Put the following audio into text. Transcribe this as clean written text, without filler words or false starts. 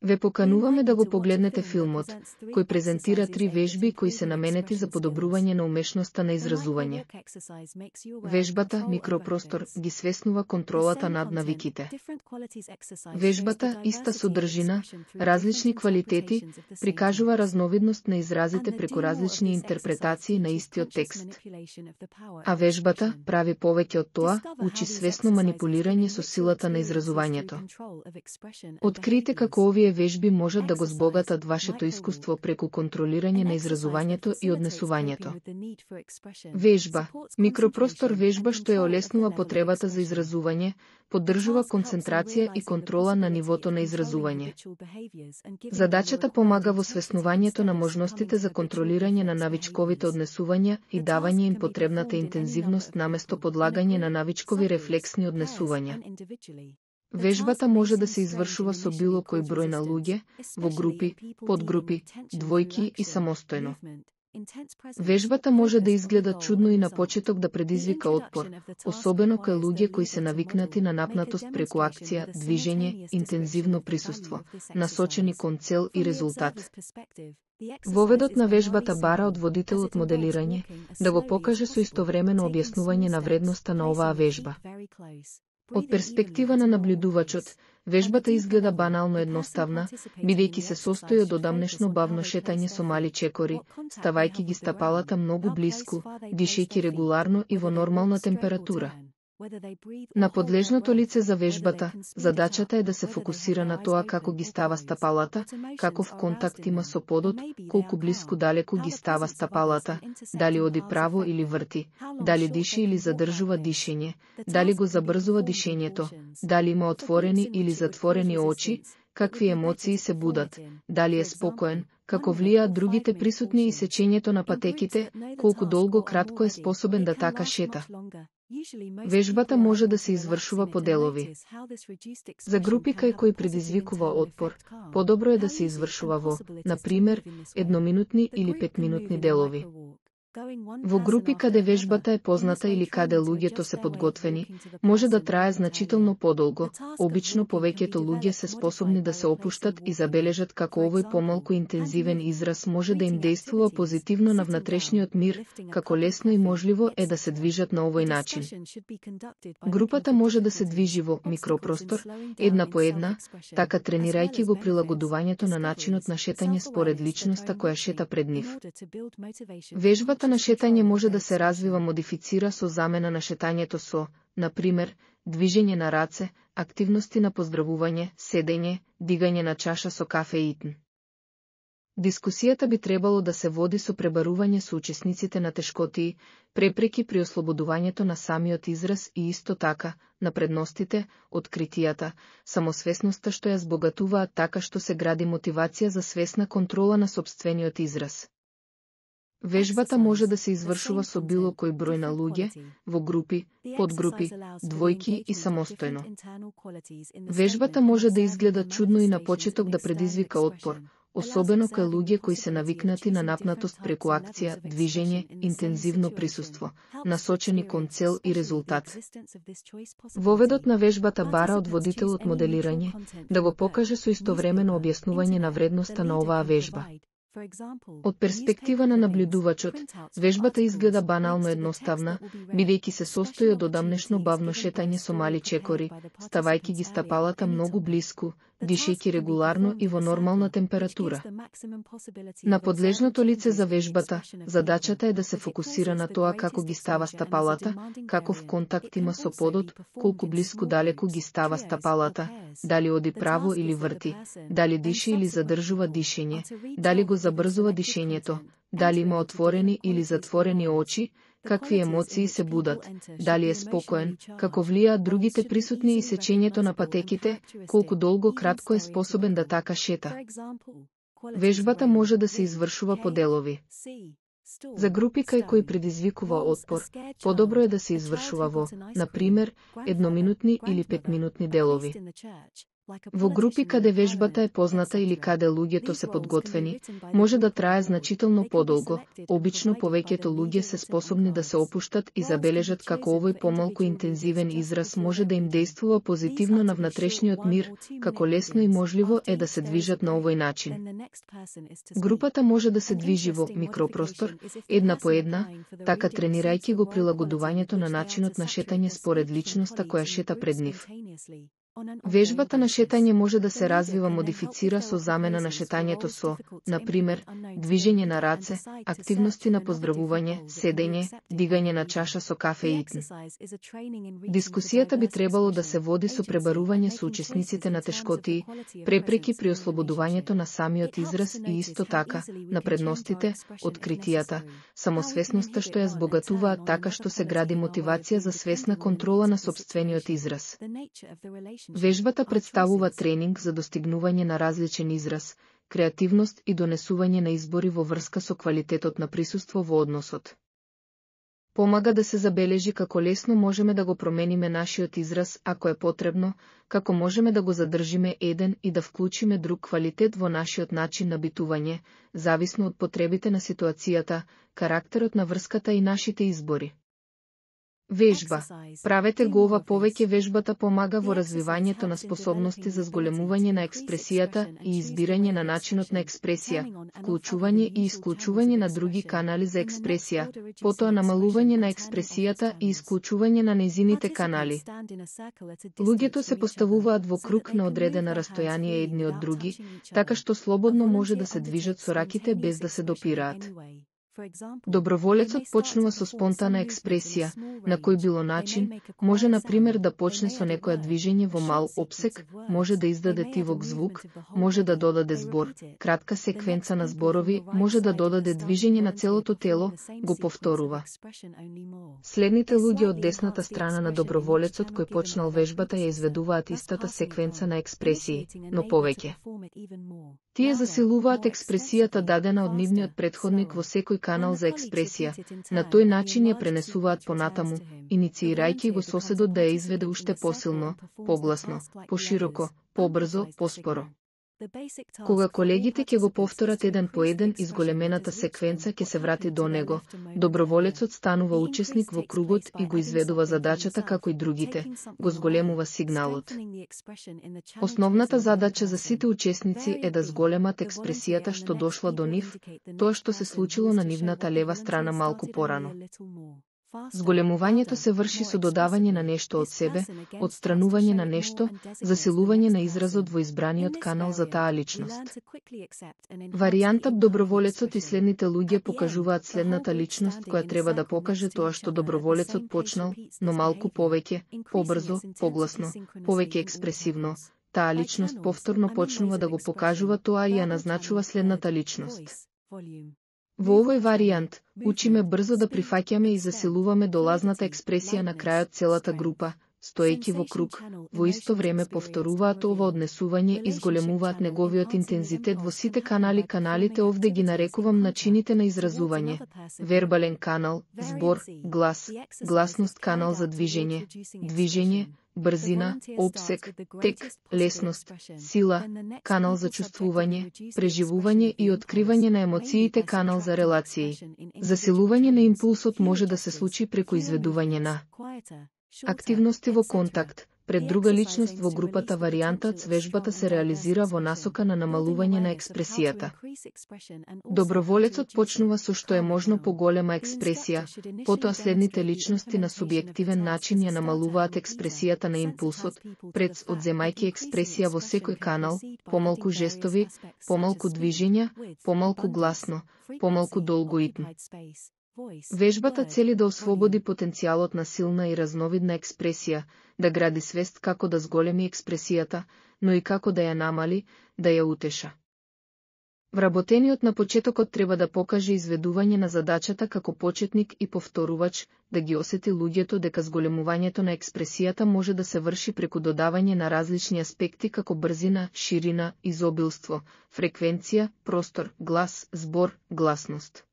Ве покануваме да го погледнете филмот, кој презентира 3 вежби кои се наменети за подобрување на умешноста на изразување. Вежбата, микропростор, ги свеснува контролата над навиките. Вежбата, иста содржина, различни квалитети, прикажува разновидност на изразите преку различни интерпретации на истиот текст. А вежбата, прави повеќе од тоа, учи свесно манипулирање со силата на изразувањето. Открите како овие вежби можат да го збогатат вашето искуство преку контролирање на изразувањето и однесувањето. Вежба, микропростор вежба што ја олеснува потребата за изразување, поддржува концентрација и контрола на нивото на изразување. Задачата помага во свеснувањето на можностите за контролирање на навичковите однесувања и давање им потребната интензивност наместо подлагање на навичкови рефлексни однесувања. Вежбата може да се извршува со било кој број на луѓе, во групи, подгрупи, двојки и самостојно. Вежбата може да изгледа чудно и на почеток да предизвика отпор, особено кај луѓе кои се навикнати на напнатост преку акција, движење, интензивно присуство, насочени кон цел и резултат. Воведот на вежбата бара од водителот моделирање да го покаже со истовремено објаснување на вредноста на оваа вежба. Од перспектива на наблюдувачот, вежбата изгледа банално едноставна, бидејќи се состои од одамнешно бавно шетање со мали чекори, ставајќи ги стапалата многу блиску, дишејќи регуларно и во нормална температура. На подлежното лице за вежбата, задачата е да се фокусира на тоа како ги става стапалата, каков контакт има со подот, колку блиску далеку ги става стапалата, дали оди право или врти, дали диши или задржува дишење, дали го забрзува дишењето, дали има отворени или затворени очи, какви емоции се будат, дали е спокоен, како влијаат другите присутни и сечењето на патеките, колку долго кратко е способен да така шета. Вежбата може да се извршува по делови. За групи кај кои предизвикува отпор, подобро е да се извршува во, на пример, едноминутни или 5-минутни делови. Во групи каде вежбата е позната или каде луѓето се подготвени, може да трае значително подолго. Обично повеќето луѓе се способни да се опуштат и забележат како овој помалку интензивен израз може да им дејствува позитивно на внатрешниот мир, како лесно и можливо е да се движат на овој начин. Групата може да се движи во микропростор, една по една, така тренирајќи го прилагодувањето на начинот на шетање според личноста која шета пред нив. Вежбата на шетање може да се развива модифицира со замена на шетањето со, на пример, движење на раце, активности на поздравување, седење, дигање на чаша со кафе и итн. Дискусијата би требало да се води со пребарување со учесниците на тешкотии, препреки при ослободувањето на самиот израз и исто така, на предностите, откритијата, самосвесноста што ја збогатуваат така што се гради мотивација за свесна контрола на сопствениот израз. Вежбата може да се извршува со било кој број на луѓе, во групи, подгрупи, двојки и самостојно. Вежбата може да изгледа чудно и на почеток да предизвика отпор, особено кај луѓе кои се навикнати на напнатост преку акција, движење, интензивно присуство, насочени кон цел и резултат. Воведот на вежбата бара од водителот моделирање да го покаже со истовремено објаснување на вредноста на оваа вежба. Од перспектива на наблюдувачот, вежбата изгледа банално едноставна, бидејќи се состои од одамнешно бавно шетање со мали чекори, ставајќи ги стапалата многу блиску, дишејќи регуларно и во нормална температура. На подлежното лице за вежбата, задачата е да се фокусира на тоа како ги става стапалата, каков контакт има со подот, колку блиску далеку ги става стапалата, дали оди право или врти, дали диши или задржува дишење, дали го забрзува дишењето, дали има отворени или затворени очи, какви емоции се будат, дали е спокоен, како влијаат другите присутни и сечењето на патеките, колку долго кратко е способен да така шета. Вежбата може да се извршува по делови. За групи кај кои предизвикува отпор, подобро е да се извршува во, на пример, едноминутни или 5-минутни делови. Во групи каде вежбата е позната или каде луѓето се подготвени, може да трае значително подолго. Обично повеќето луѓе се способни да се опуштат и забележат како овој помалку интензивен израз може да им действува позитивно на внатрешниот мир, како лесно и можливо е да се движат на овој начин. Групата може да се движи во микропростор, една по една, така тренирајќи го прилагодувањето на начинот на шетање според личноста која шета пред нив. Вежбата на шетање може да се развива модифицира со замена на шетањето со, например, движење на раце, активности на поздравување, седење, дигање на чаша со кафе и итн. Дискусијата би требало да се води со пребарување со учесниците на тешкотии, препреки при ослободувањето на самиот израз и исто така, на предностите, откритијата, самосвесноста што ја збогатуваат така што се гради мотивација за свесна контрола на сопствениот израз. Вежбата представува тренинг за достигнување на различен израз, креативност и донесување на избори во врска со квалитетот на присуство во односот. Помага да се забележи како лесно можеме да го промениме нашиот израз ако е потребно, како можеме да го задржиме еден и да вклучиме друг квалитет во нашиот начин на битување, зависно од потребите на ситуацијата, карактерот на врската и нашите избори. Вежба. Правете го ова повеќе. Вежбата помага во развивањето на способности за зголемување на експресијата и избирање на начинот на експресија, вклучување и исклучување на други канали за експресија, потоа намалување на експресијата и исклучување на нејзините канали. Луѓето се поставуваат во круг на одредена растојание едни од други, така што слободно може да се движат со раките без да се допираат. Доброволецот почнува со спонтана експресија, на кој било начин, може например да почне со некоја движење во мал опсек, може да издаде тивок звук, може да додаде збор, кратка секвенца на зборови, може да додаде движење на целото тело, го повторува. Следните луѓе од десната страна на доброволецот кој почнал вежбата ја изведуваат истата секвенца на експресии, но повеќе. Тие засилуваат експресијата дадена од нивниот претходник во секој канал за експресија, на тој начин ја пренесуваат понатаму, инициирајќи го соседот да ја изведе уште посилно, погласно, пошироко, побрзо, поспоро. Кога колегите ќе го повторат еден по еден изголемената секвенца ќе се врати до него, доброволецот станува учесник во кругот и го изведува задачата како и другите, го зголемува сигналот. Основната задача за сите учесници е да зголемат експресијата што дошла до нив, тоа што се случило на нивната лева страна малку порано. Зголемувањето се врши со додавање на нешто од себе, отстранување на нешто, засилување на изразот во избраниот канал за таа личност. Варијантат доброволецот и следните луѓе покажуваат следната личност која треба да покаже тоа што доброволецот почнал, но малку повеќе, побрзо, погласно, повеќе експресивно. Таа личност повторно почнува да го покажува тоа и ја назначува следната личност. Во овој варијант, учиме брзо да прифаќаме и засилуваме долазната експресија на крајот целата група, стоејќи во круг, во исто време повторуваат ова однесување и зголемуваат неговиот интензитет во сите канали. Каналите овде ги нарекувам начините на изразување. Вербален канал, збор, глас, гласност, канал за движење, движење, брзина, опсек, тек, лесност, сила, канал за чувствување, преживување и откривање на емоциите, канал за релации. Засилување на импулсот може да се случи преку изведување на активности во контакт, пред друга личност во групата. Варијантат с вежбата се реализира во насока на намалување на експресијата. Доброволецот почнува со што е можно поголема експресија, потоа следните личности на субјективен начин ја намалуваат експресијата на импулсот, пред одземајќи експресија во секој канал, помалку жестови, помалку движења, помалку гласно, помалку долго итн. Вежбата цели да ослободи потенцијалот на силна и разновидна експресија, да гради свест како да зголеми експресијата, но и како да ја намали, да ја утеша. Вработениот на почетокот треба да покаже изведување на задачата како почетник и повторувач, да ги осети луѓето дека зголемувањето на експресијата може да се врши преку додавање на различни аспекти како брзина, ширина, изобилство, фреквенција, простор, глас, збор, гласност.